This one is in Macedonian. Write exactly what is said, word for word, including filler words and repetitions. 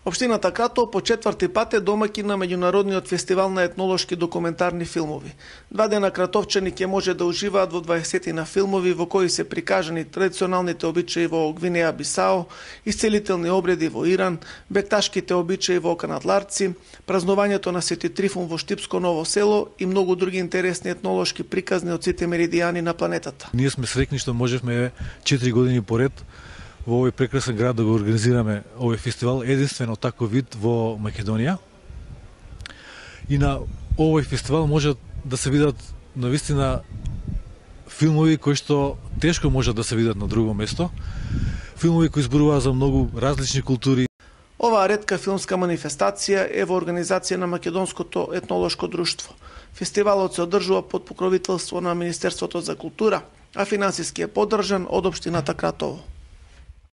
Општината Кратово по четврти пат е домаќин на меѓународниот фестивал на етнолошки документарни филмови. Два дена кратовчани ќе може да уживаат во дваесет на филмови во кои се прикажани традиционалните обичаи во Гвинеја Бисао, исцелителни обреди во Иран, бекташките обичаи во Канадларци, празнувањето на Свети Трифун во Штипско Ново село и многу други интересни етнолошки приказни од сите меридијани на планетата. Ние сме среќни што можевме четири години поред во овој прекрасен град да го организираме овој фестивал, единствено таков вид во Македонија. И на овој фестивал може да се видат навистина филмови кои што тешко може да се видат на друго место. Филмови кои зборуваат за многу различни култури. Оваа ретка филмска манифестација е во организација на Македонското етнолошко друштво. Фестивалот се одржува под покровителство на Министерството за култура, а финансиски е поддржан од општината Кратово.